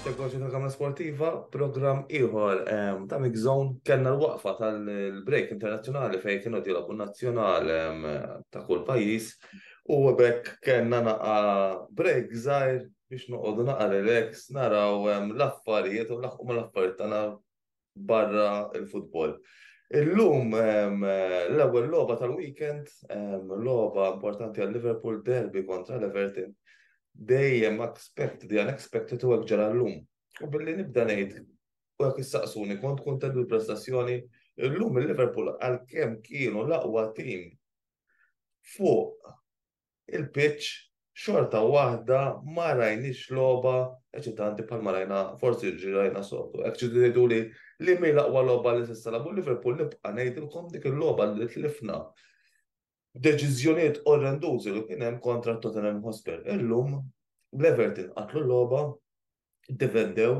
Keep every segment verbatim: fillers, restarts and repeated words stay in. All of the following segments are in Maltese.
Segwaċi ta' Kamra Sportiva, program ieħor em, ta' Mix Zone, kellna l-waqfa tal-break internazzjonali fejn kienu jilagħbu nazzjonal em, ta' kull pajjiż u bekk kellna naqa break żgħir biex noqogħdu naqa relax, naraw em, l-affarijiet u nlaħqu mal-affarijiet tagħna barra il-futbol. Illum em, l-ewwel logħba tal-weekend, em, logħba importanti għal Liverpool, derby kontra l-Everton. Dejjem expect the unexpected u hekk ġara llum. U billi nibda ngħid u jekk issaqsuni kont kuntent bil-prestazzjoni, illum il-Liverpool għalkemm kienu l-aqwa tim fuq il-pitch, xorta waħda ma rajniex logħba eċitanti bħalma rajna forsi ġi rajna soltu. Hekk ġidu tgħidu li li mi l-aqwa logħba li s'issa lagħbu Liverpool, nibqa' ngħidilkom dik il-logħba li tlifna deċiżjonijiet orrendużi li kien hemm kontra Tottenham Hotspur. Illum l-Everton qatlu l-logħba, defendew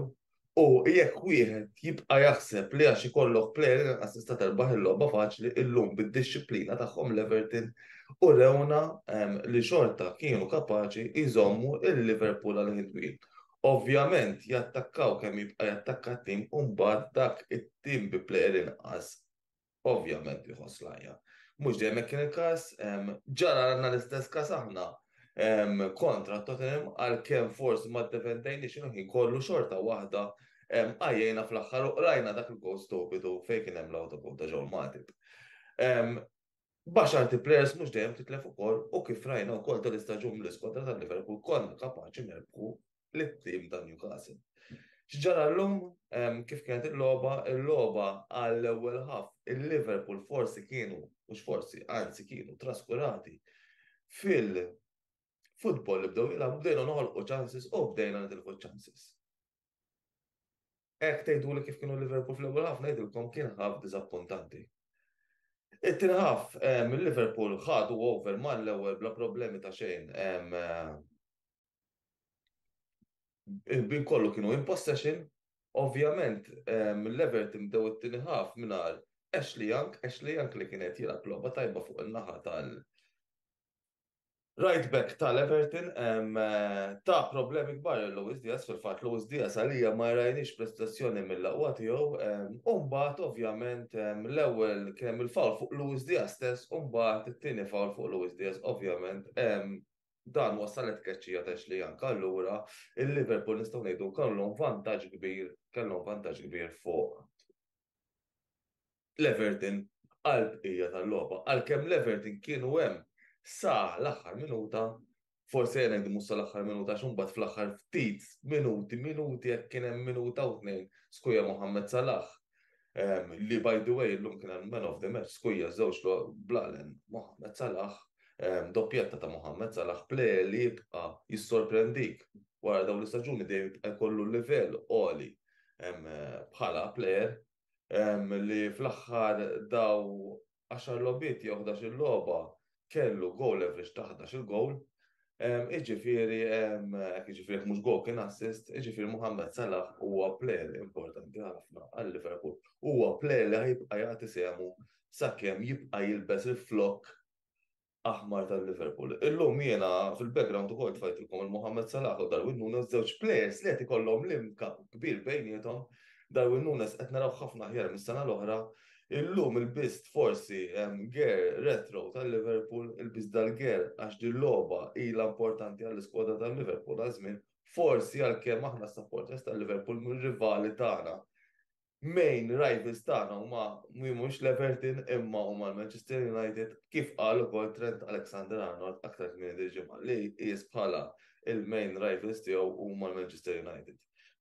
u jekk wieħed jibqa' jaħseb li għax ikollok player inqas tista' terbaħ il-logħba faċli, illum bid-dixxiplina tagħhom l-Everton u rewna em, li xorta kienu kapaċi jżommu il-Liverpool għal ħin twil. Ovvjament jattakkaw kemm jibqa' jattakka t-tim u mbagħad dak it-tim bi player inqas ovvjament jħoss l-għajja. Mhux dejjem hekk kien il-każ, em, ġara għandna l-istess każ aħna em, kontra Tottenham, għalkemm forsi ma ddefendejniex il-ħin kollu, xorta waħda em, għajjejna fl-aħħar u rajna dak il-goal stupidu fejn kien hemm l-autogoal ta' Joel Matip. Em, B'għaxart players mhux dejjem titlef ukoll u kif rajna wkoll tal-istaġun l-iskwadra tal-Liverpool konna kapaċi nerbħu lit-tim ta' Newcastle. X'ġara llum, em, kif kienet il-logħba? Il-logħba għall-ewwel half il-Liverpool forsi kienu, mhux forsi, anzi kienu traskurati fil-futbol li bdew jilagħbu, bdejna noħolqu chances u bdejna nitilfu chances. Hekk tgħidu li kif kienu Liverpool fl-ewwel half, ngħidilkom kien half diżappuntanti. It-tieni half em, il-Liverpool ħadu over mal-ewwel bla problemi ta' xejn. em, eh, Il-bin kollu kienu in possession, ovvjament em, l-Everton bdew it-tieni half mingħajr Ashley Young, Ashley Young li kienet jilgħab logħba tajba fuq in-naħa tal right back tal-Everton, em, eh, ta' problemi kbar lil Luis Diaz. Fil-fatt Luis Diaz għalija ma rajniex prestazzjoni mill-aqwa tiegħu, em, u mbagħad ovvjament em, l-ewwel kien hemm il-foul fuq Luis Diaz stess u mbagħad it-tieni foul fuq Luis Diaz, ovvjament em, dan wassalet tkeċċija ta' Ashley Young. Allura il-Liverpool nistgħu ngħidu kellhom vantaġġ kbir, kellhom vantaġġ kbir fuq l-Everton għal bqija tal-logħba. Għalkemm l-Everton kienu hemm sa l-aħħar minuta, forsi jena ngħidu mhux sa l-aħħar minuta għax imbagħad fl-aħħar ftit minuti, minuti jekk kien hemm minuta u tnejn, skuja Mohamed Salah. Em, li by the way illum kien hemm man of the match, skuja żewġ blalen Mohamed Salah, em, doppjetta ta' Mohamed Salah, player li jibqa' jissorprendik wara dawn l-istaġuni, dejjem jibqa' jkollu livell għoli em, bħala player em, li fl-aħħar daw għaxar logħbiet jew ħdax-il logħba kellu goal average ta' ħdax il-goal. Iġifieri, hekk jiġifieri mhux goal kien assist, iġifieri Mohamed Salah huwa player importanti ħafna għal Liverpool. Huwa player li ħajibqa' jagħti sehmu sakemm jibqa' jilbes il-flok aħmar tal-Liverpool. Illum jiena fil-background ukoll tfajtilkom il-Mohamed Salah u Darwin Nunes, żewġ players li qed ikollhom link kbir bejniethom. Darwin Nunes qed naraw ħafna aħjar mis-sena l-oħra. Illum ilbist forsi gear retro tal-Liverpool, ilbist dal-gear għax din logħba ilha importanti għall-iskwadra tal-Liverpool għal żmien, forsi għalkemm aħna supporters tal-Liverpool mir-rivali tagħna. Main rivals tagħna huma mhux l-Everton imma huma l-Manchester United, kif qal ukoll Trent Alexander-Arnold aktar kmieni dil-ġimgħa li qis bħala il-main rivals tiegħu huma l-Manchester United.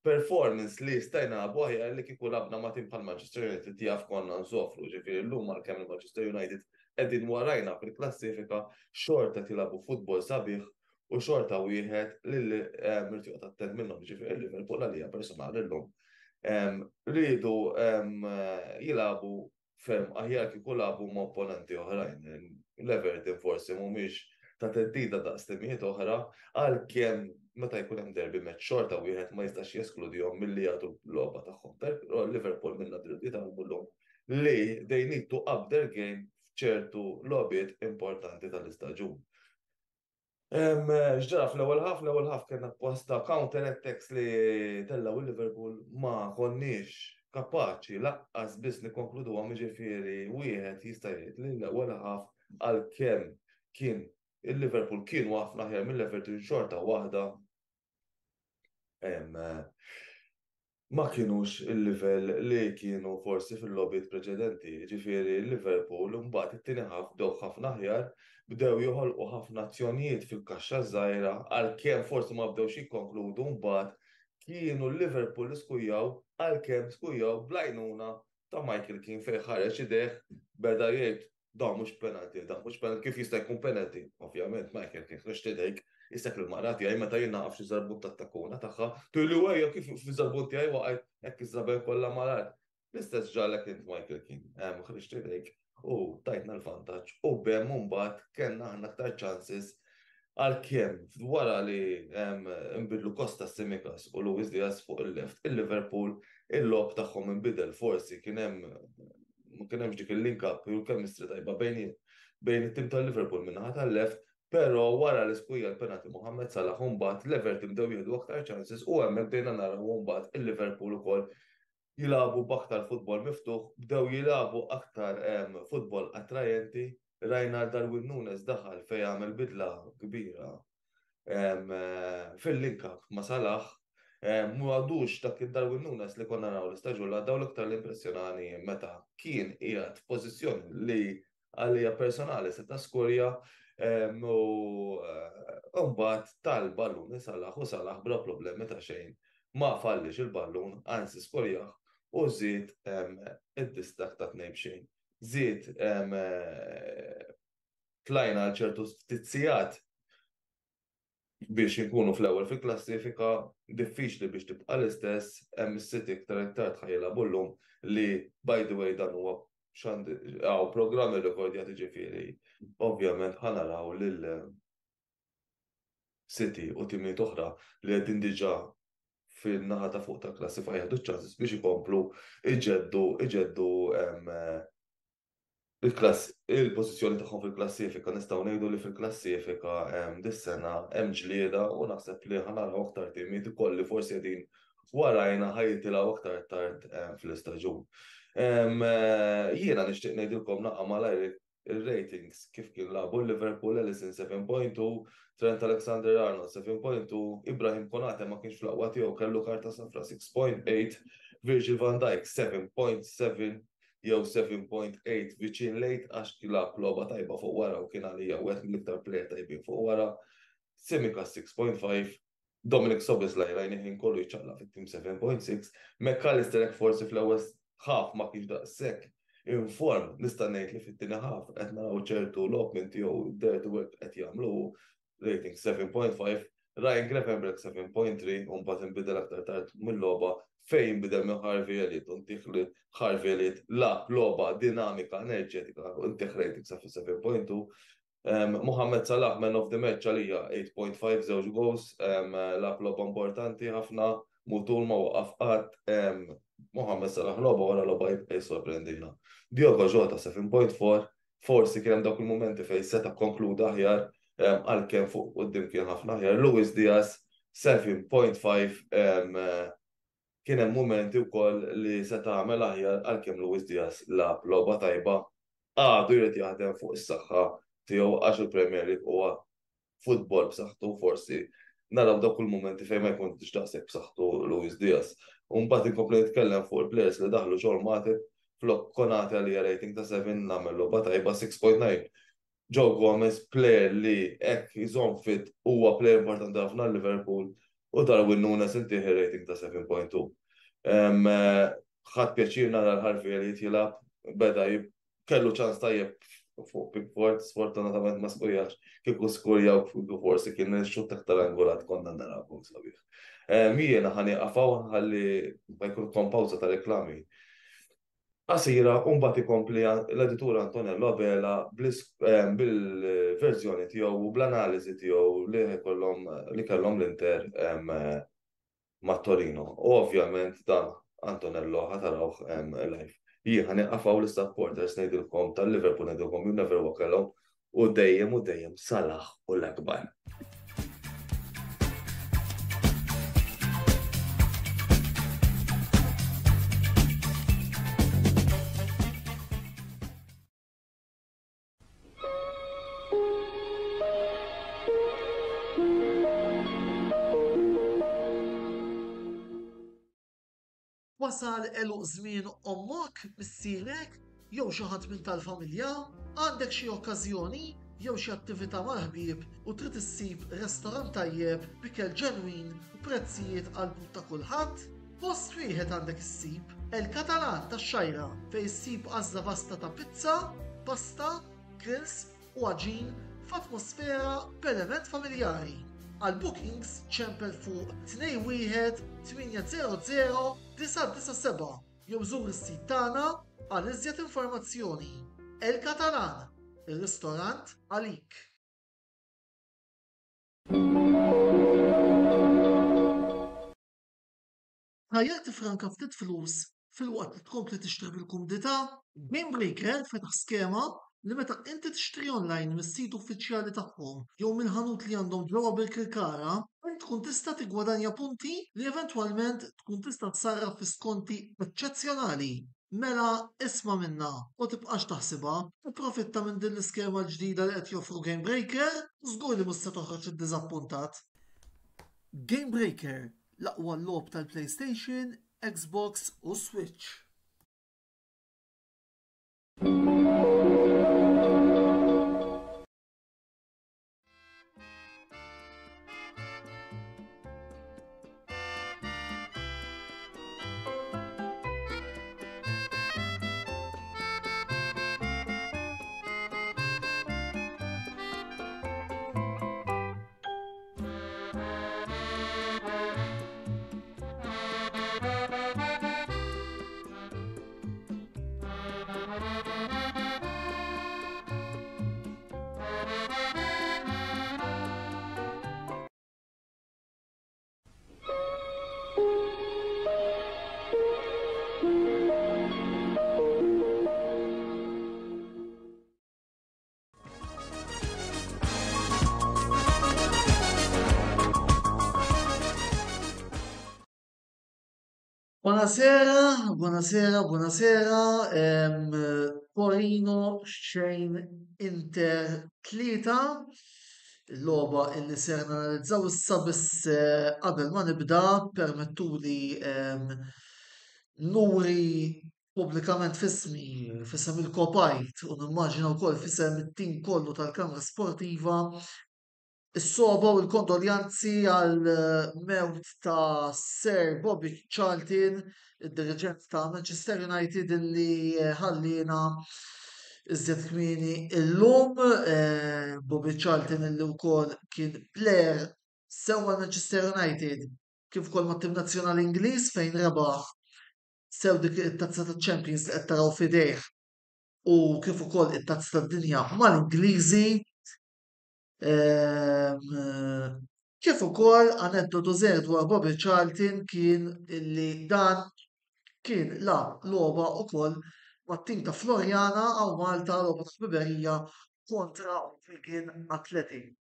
Performance li stajna nagħmlu aħjar, li kieku lgħabna ma' tim bħal Manchester United jaf konna nsofru, ġifieri llum għalkemm il-Manchester United qegħdin warajna fil-klassifika, xorta tilagħbu futbol sabiħ u xorta wieħed li irid joqgħod attent minnhom, ġifieri Liverpool għalija personali llum Rridu jilagħbu ferm aħjar kieku lagħbu ma' opponenti oħrajn. L-Everton forsi mhumiex ta' theddida daqs timijiet oħra, għalkemm meta jkun hemm derby match xorta wieħed ma jistax jeskludihom milli jagħtu l-logħba tagħhom. Però Liverpool mill jitgħallmu llum li they need to up their game f'ċertu logħbiet importanti tal-istaġun. X'ġara fl-ewwel half, l-ewwel half kellna posta counter attacks li tellaw il-Liverpool, ma konniex kapaċi lanqas biss nikkonkludu għam, ġifieri wieħed jista' jgħid li l-ewwel half, għalkemm kien il-Liverpool kienu ħafna aħjar mill-Everton, xorta waħda ma kienux il-livell li kienu forsi fil-logħbiet preċedenti. Ġifieri Liverpool mbagħad it-tieni half bdew ħafna aħjar, bdew joħolqu ħafna azzjonijiet fil-kaxxa żgħira, għalkemm forsi ma bdewx jikkonkludu. Mbagħad kienu l-Liverpool li skurjaw, għalkemm skurjaw bl-għajnuna ta' Michael Keane fejn ħareġ idejh, beda jgħid "Dan mhux penalty, dan mhux penalty, kif jista' jkun penalty?" Ovvjament Michael Keane ħriġt idejk, isek il-mara tiegħi meta jien naqaf xi żarbun tat-takuna tagħha, tgħidli "Ejja, kif fi żarbun tiegħi waqgħet hekk iż-żraben kollha mal-art?" L-istess ġralek int, Michael Keane, ħriġt idejk u tajtna l-vantaġġ u bem mbagħad kellna aħna aktar chances, għalkemm wara li nbidlu Costa Tsimikas u Luis Diaz fuq il-left, il-Liverpool il-logħob tagħhom inbidel, forsi kien hemm ma kien hemmx dik il-link up u l-chemistry tajba bejn bejn it-tim tal-Liverpool min-naħa tal-left, però wara li skurja l-penalty Mohamed Salah, mbagħad l-Everton bdew jieħdu aktar chances u hemmhekk bdejna naraw mbagħad il-Liverpool ukoll jilagħbu b'aktar futbol miftuħ, bdew jilagħbu aktar futbol attrajenti. Rajna Darwin Nunes daħal fejn għamel bidla kbira fil-link up ma' Salah. Mu għadux dak id-Darwin Nunes li konna naraw l-istaġun li daw. L-iktar l-impressjonani meta kien qiegħed f'pożizzjoni li għalija personali seta' skurja u mbagħad tal-ballun Salah u Salah bla problemi ta' xejn ma fallix il-ballun, anzi skurjah u żied id-distak ta' tnejn b'xejn. Żied tlajna għal ċertu ftit sigħat biex inkunu fl-ewwel fil-klassifika, diffiċli biex tibqa' l-istess, hemm is-City iktar iktar ħa jilagħbu llum li, by the way, dan huwa għaw programmi rekordjati, ġifieri ovvjament ħa naraw lil City u timijiet oħra li qegħdin diġà fil-naħa ta' fuq ta' klassifika jieħdu ċansis biex ikomplu iġeddu iġeddu il-klass il-pożizzjoni tagħhom fil-klassifika. Nistgħu ngħidu li fil-klassifika dis-sena hemm ġlieda u naħseb li ħa naraw aktar timijiet ukoll li forsi qegħdin warajna ħa jitilgħu aktar tard fl-istaġun. Jiena nixtieq ngħidilkom naqra malajr il-ratings kif kien lagħbu Liverpool: Alisson seba' punt tnejn, Trent Alexander-Arnold seba' punt tnejn, Ibrahim Konate ma kienx fl-aqwa tiegħu, kellu karta safra, sitta punt tmienja, Virgil van Dijk seba punt seba jew seba punt tmienja, viċin lejt, għax lagħab logħba tajba fuq wara u kien għalija wieħed mill-iktar player tajbin fuq wara. Tsimikas sitta punt ħamsa, Dominic Szoboszlai rajni ħin kollu jċaqlaq fit-tim, seba punt sitta, Mac Allister hekk forsi fl-ewwel half ma kienx daqshekk in form, nista' ngħid li fit-tieni half qed naraw ċertu logħob minn tiegħu, dirty work qed jagħmlu, rating seba punt ħamsa, Ryan Gravenberch seba punt tlieta, u mbagħad inbidel aktar tard mill-logħba fejn bidel minn Harvey Elliott u ntih li Harvey Elliott lagħab logħba dinamika, enerġetika, u ntih rating sa seba punt tnejn. Um, Mohamed Salah, man of the match għalija, tmienja punt ħamsa, żewġ goals, um, lagħab logħba importanti ħafna, mutur ma waqaf qatt. Um, Mohamed Salah logħba wara logħba jibqa' jissorprendina. Diogo Jota seba punt erbgħa, forsi kien hemm dawk il-momenti fejn seta' konkluda aħjar, għalkemm fuq quddiem kien ħafna aħjar. Luis Diaz seba punt ħamsa, kien hemm momenti wkoll li seta' għamel aħjar, għalkemm Luis Diaz lagħab logħba tajba, għadu jrid jaħdem fuq is-saħħa tiegħu għax il-Premier League huwa futbol b'saħħtu, forsi naraw dawk il-momenti fejn ma jkunx daqshekk b'saħħtu Luis Diaz. U mbagħad inkompli nitkellem fuq il-players li daħlu: Joel Matip flok Konate, għalija rating ta' seba, għamel logħba tajba, sitta punt tnejn. Joe Gomez, player li hekk jżomm fit huwa player importanti ħafna Liverpool, u Darwin Nunes intih rating ta' seba punt tnejn. Ħadt pjaċir nara l-Harvey Elliott jilgħab, beda kellu ċans tajjeb. fuq Pickford, sfortunatament ma skurjax, kieku skurjaw forsi kien xutt aktar angolat konna naraw sabiħ. Jiena ħa nieqaf hawn ħalli ma jkun pawża ta' reklami. Qasira, u mbagħad ikompli l-editur Antonello Abela bil-verżjoni tiegħu u bl-analiżi tiegħu li kellhom li kellhom l-Inter ma' Torino. U ovvjament dan Antonello ħa tarawh live. Jien ħa nieqaf hawn l-supporters ngħidilkom tal-Liverpool ngħidilkom you never walk alone u dejjem u dejjem Salah u l-akbar. Wasal għeluq żmien ommok, missierek, jew xi ħadd minn tal-familja, għandek xi okkażjoni jew xi attività mal-ħbieb u trid issib restorant tajjeb b'ikel ġenwin u prezzijiet għal but ta' kulħadd? Post wieħed għandek issib, El Catalan tax-Xgħajra fejn issib għażla vasta ta' pizza, pasta, grills u għaġin f'atmosfera b'element familjari. Għal bookings ċempel fuq tnejn wieħed tmienja zero zero disa' disa' seba' jew żur is-sit tagħna għal iżjed informazzjoni. El Catalan, ir-ristorant għalik. Ħajjek tifranka ftit flus filwaqt li tkompli tixtri bil-kumdità? Game Breaker fetaħ skema li meta inti tixtri online mis-sit uffiċjali tagħhom jew mill-ħanut li għandhom ġewwa Birkirkara, int tkun tista' tiggwadanja punti li eventwalment tkun tista' tsarraf fi skonti eċċezzjonali. Mela isma' minna u tibqax taħsibha, ipprofitta minn din l-iskema l-ġdida li qed joffru Game Breaker u żgur li mhux se toħroġ iddiżappuntat. Game Breaker, l-aqwa logħob tal-PlayStation, Xbox u Switch. Buonasera, buonasera, buonasera. Ehm, Torino xejn Inter tlieta. Il-logħba illi ser nanalizzaw issa biss, eh, qabel ma nibda permettuli, ehm, nuri pubblikament fismi, fisem il-Kopajt u nimmaġina wkoll fisem it-tim kollu tal-Kamra Sportiva is-soba u l-kondoljanzi għal mewt ta' Sir Bobby Charlton, id-diriġent ta' Manchester United illi ħallina iżjed kmieni illum. Eh, Bobby Charlton illi wkoll kien player sew mal Manchester United kif ukoll mat-tim nazzjonali Ingliż fejn rebaħ sew dik it-tazza ta' Champions li qed taraw f'idejh u kif ukoll it-tazza tad-dinja mal-Ingliżi. Ehm, kif ukoll aneddotu żgħir dwar Bobby Charlton kien illi dan kien lagħab logħba ukoll mat-tim ta' Floriana għaw Malta, logħba ta' ħbiberija kontra Wigan Athletic.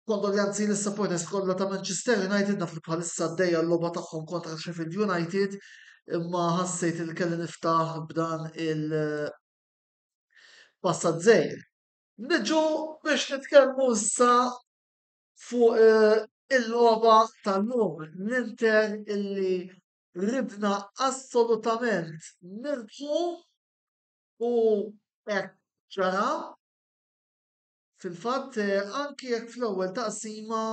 Kondoljanzi lis supporters kollha ta' Manchester United, naf li bħalissa għaddejja l-logħba tagħhom kontra Sheffield United, imma ħassejt li kelli niftaħ b'dan il-passat żgħir. Niġu biex nitkellmu issa fuq, eh, il-logħba tal-lum, l-Inter illi ridna assolutament nirbħu u hekk ġara. Fil-fatt, eh, anki jekk fl-ewwel taqsima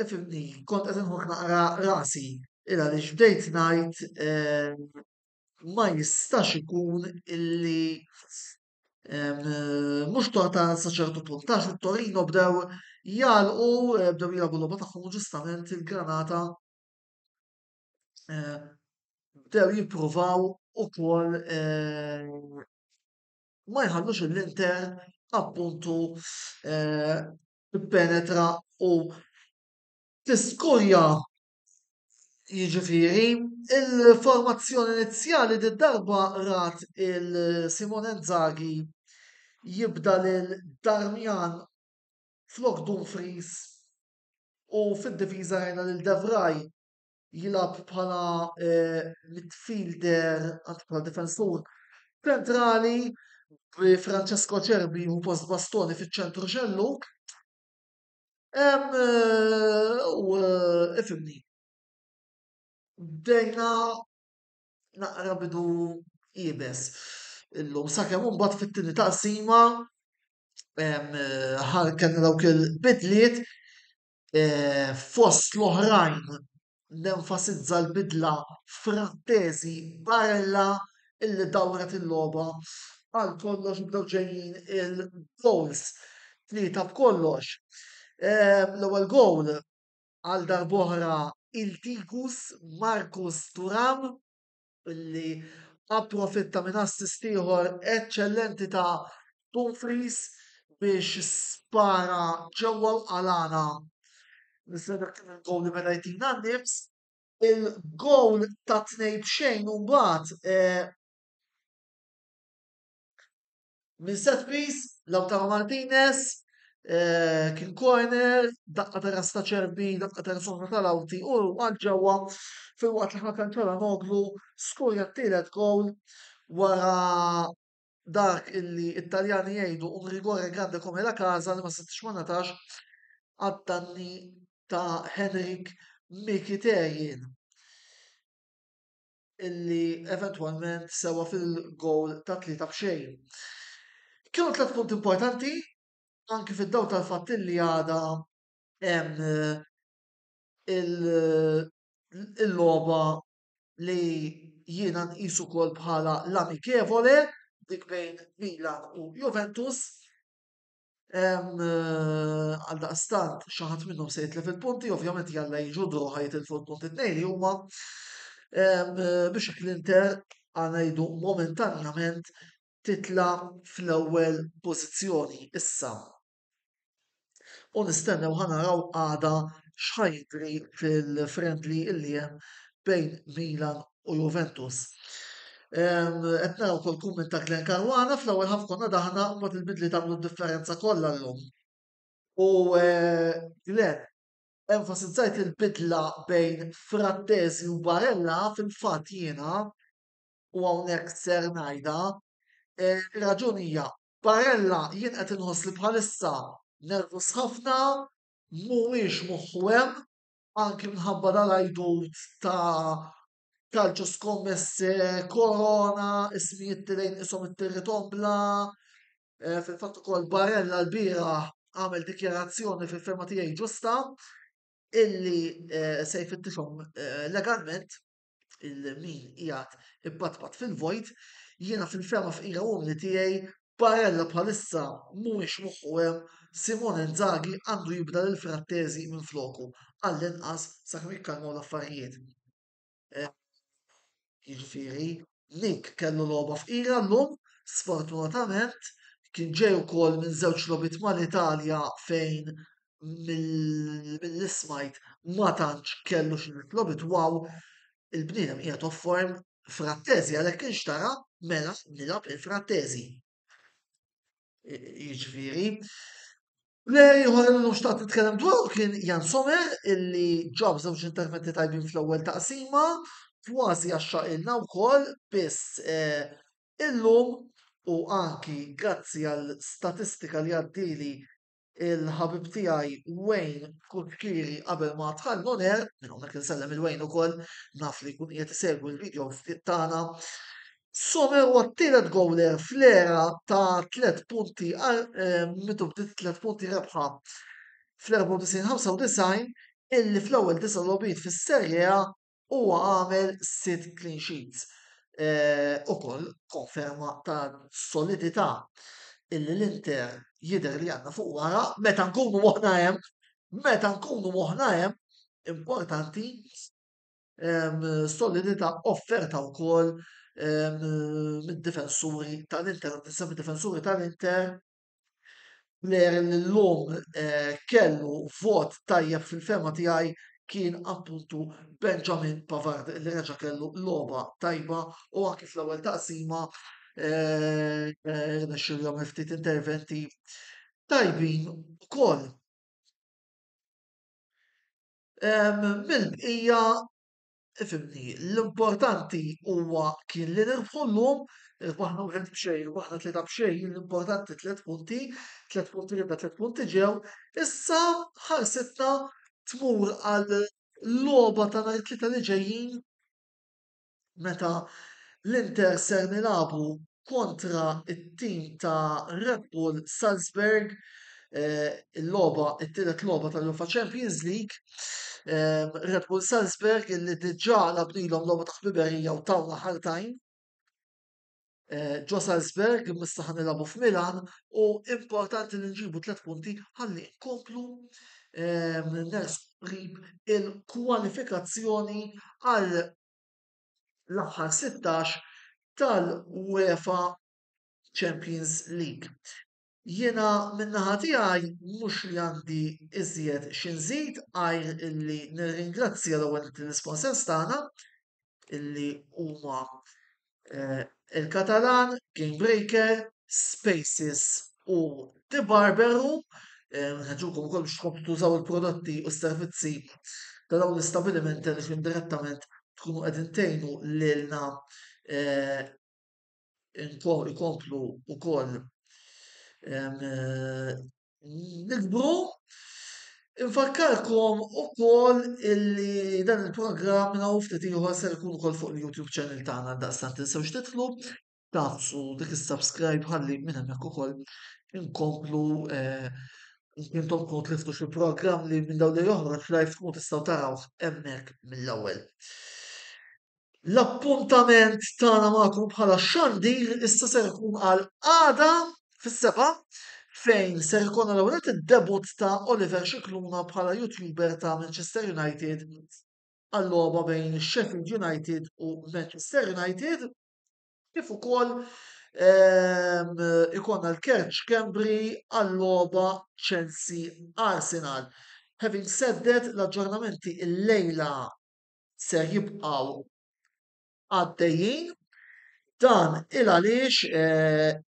ifhimni, kont qed inħoss naqra rasi il għaliex bdejt ngħid, eh, Ma jistax ikun illi mhux torta sa ċertu punt, għax it-Torino bdew jagħlqu, bdew jilagħbu logħba tagħhom u ġustament il-Granata eh, bdew jippruvaw ukoll eh, ma jħallux l-Inter appuntu eh, penetra u tiskurja. Jiġifieri, il-formazzjoni inizjali d-darba rat il-Simone Inzaghi jibda lil Darmian flok Dumfries u fid-difiża rajna lil De Vrij jilgħab bħala eh, midfielder, anzi bħala difensur ċentrali, bi Francesco Acerbi u post Bastoni fiċ-ċentru xelluk. Eh, u eh, ifhimni. Bdejna naqra bidu iebes illum sakemm imbagħad fit-tieni taqsima kellna dawk il-bidliet, eh, fost l-oħrajn nenfasizza l-bidla Frattesi Barella illi dawret il-logħba għal kollox, bdew ġejjin il-goals tlieta b'kollox. L-ewwel goal għal darb'oħra il-Tikus Marcus Thuram, illi approfitta minn assist ieħor eċċellenti ta' Dumfries biex spara ġewwa l-qalana. Nista' dak kien il-goal li meta jtina n-nifs. Il-goal ta' tnejn b'xejn u mbagħad eh, minn set piece Lautaro Martinez eh, kien corner, daqqa ta' ras ta' Acerbi, daqqa ta' ras oħra tal-Awti u għal ġewwa, filwaqt li Hakan Calhanoglu skorja t-tielet goal wara dak illi Italjani jgħidu un rigore grande come la casa li ma setgħax ma ngħatax għad-danni ta' Henrik Mkhitaryan, illi eventwalment sewa fil-goal ta' tlieta b'xejn. Kienu tliet punt importanti anki fid-daw tal-fatt illi għada hemm il-logħba li jiena nqisu wkoll bħala l-amichevole, dik bejn Milan u Juventus. Għal daqstant xi ħadd minnhom se jitlef il-punti, ovvjament jalla jiġu draw, ħa jitilfu l-punti tnejn li huma, biex l-Inter ngħidu momentanjament titla fl-ewwel pożizzjoni issa. U nistennew ħa naraw għada x'ħa jiġri fil-friendly illi hemm bejn Milan u Juventus. Qed naraw ukoll kumment ta' Glenn Caruana: "Fl-ewwel half konna daħna, mbagħad il-bidli tagħmlu d-differenza kollha llum." U eh, Glenn, enfasizzajt il-bidla bejn Frattesi u Barella. Fil-fatt jiena u hawnhekk ser ngħidha, eh, raġuni hija Barella jien qed inħoss li bħalissa nervus ħafna, mhuwiex moħħu hemm, anki minħabba dal-għajdut ta' calcio scommesse, korona, ismijiet tilejn isom it-territombla. Eh, fil-fatt ukoll Barella l-bieraħ għamel dikjarazzjoni, fil-fehma tiegħi ġusta, illi eh, se jfittixhom eh, legalment il-min qiegħed ippatpat fil-vojt. Jiena fil-fehma fqira umli tiegħi, Barella bħalissa mhuwiex moħħu hemm. Simone Inzaghi għandu jibda lil Frattesi minn floku għall-inqas sakemm jikkalmaw l-affarijiet. Eh, jiġifieri, Nick kellu logħba fqira llum, sfortunatament, kien ġej ukoll minn żewġ logħbiet mal-Italja fejn mill-li smajt ma tantx kellu xi logħbiet wow, il-bniedem qiegħed off form. Frattesi għalhekk inxtara, mela nilgħab il-Frattesi. Jiġifieri, player ieħor li xtaqt nitkellem dwaru kien Jan Sommer, illi ġab żewġ interventi tajbin fl-ewwel taqsima, kważi għaxxaqilna wkoll, biss eh, illum u anki grazzi għal statistika li għaddili il-ħabib tiegħi Wayne Kutkiri qabel ma dħal on air, minn hawnhekk insellem il-Wayne ukoll, naf li jkun qiegħed isegwi l-video tagħna. Sommer huwa t-tielet goaler fl-era ta' tliet punti, eh, mitu bdiet tliet punti rebħa fl-erbgħa u disgħin ħamsa u disgħin, illi fl-ewwel disa' logħbiet fis-Serie A huwa għamel sitt clean sheets. Ukoll konferma ta' solidità illi l-Inter jidher li għandna fuq wara meta nkunu moħħna hemm, meta nkunu moħħna hemm, importanti, solidità offerta wkoll mid-difensuri tal-Inter, nsemmi difensuri tal-Inter, player li llum kellu vot tajjeb fil-fehma tiegħi kien appuntu Benjamin Pavard, li reġa' kellu logħba tajba u anki fl-ewwel taqsima rnexxielu jagħmel ftit interventi tajbin ukoll. Mill-bqija, ifhimni, l-importanti huwa kien li nirbħu llum, irbaħna wieħed b'xejn, irbaħna tlieta b'xejn, l-importanti tliet punti, tliet punti ridna, tliet punti ġew. Issa ħarsitna tmur għal logħba ta' nhar it-Tlieta li ġejjin meta l-Inter ser nilagħbu kontra it-tim ta' Red Bull Salzburg, il-logħba, it-tielet logħba tal-UEFA Champions League. Red Bull Salzburg illi diġà lagħbnilhom logħba ta' ħbiberija u tawna ħartajn ġo Salzburg, issa ħa nilagħbu f'Milan u importanti li nġibu tliet punti ħalli nkomplu nersqu qrib il-kwalifikazzjoni għal l-aħħar sittax tal-UEFA Champions League. Jiena min-naħa tiegħi mhux li għandi iżjed xi nżid għajr illi nirringrazzja l-ewwel l-isponsors tagħna illi huma il-Katalan, Game Breaker, Spaces u The Barber Room. Nħeġġukom ukoll biex tkomplu tużaw il-prodotti u s-servizzi ta' dawn l-istabilimenti għaliex indirettament tkunu qegħdin tgħinu lilna ikomplu wkoll nikbru. Infakkarkom ukoll illi dan il-programm minn hawn ftit ieħor ser ikun ukoll fuq il-YouTube channel tagħna, daqstant tinsewx tidħlu tagħfsu dik is-subscribe ħalli minn hemmhekk ukoll inkomplu intom tkunu tliftu xi programm li minn dawn li joħroġ live tkunu tistgħu tarawh hemmhekk mill-ewwel. L-appuntament tagħna magħkom bħala xandir issa ser ikun għal għada fis-seba' fejn ser ikun l-ewwel id-debut ta' Oliver Scicluna bħala YouTuber ta' Manchester United għal-logħba bejn Sheffield United u Manchester United, kif ukoll ikonna l-Kurt Schembri għal-logħba Chelsea Arsenal. Having said that, l-aġġornamenti il-lejla ser jibqgħu għaddejjin. Dan il għaliex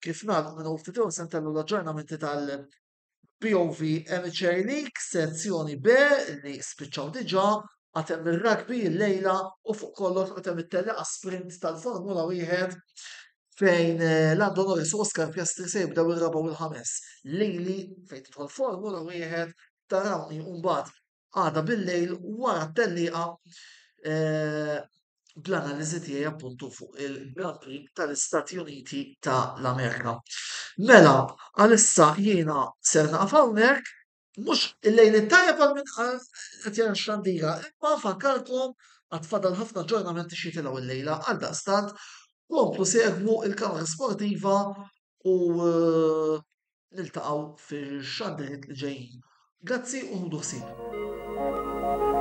kif nagħlqu minn ftit se ntellu l-aġġornamenti tal-B O V Amateur League sezzjoni B li spiċċaw diġà, għad hemm ir-rugby l-lejla u fuq kollox għad hemm it-tellieqa sprint tal-Formula wieħed fejn Lando Norris u Oscar Piastri se jibdew ir-raba' u l-ħames. Lili fejn tidħol Formula wieħed tarawni mbagħad għada bil-lejl wara t-tellieqa bl-analiżi tiegħi appuntu fuq il-Grand Prix tal-Istati Uniti tal-Amerika. Mela, għalissa jiena ser naqaf hawnhekk, mhux il-lejl it-tajjeb għal min qed jara x-xandira, imma nfakkarkom għad fadal ħafna aġġornamenti xi jitilgħu illejla, għaldaqstant komplu segwu il-Kamra Sportiva u niltaqgħu fix-xandiriet li ġejjin. Grazzi u ħudu ħsieb.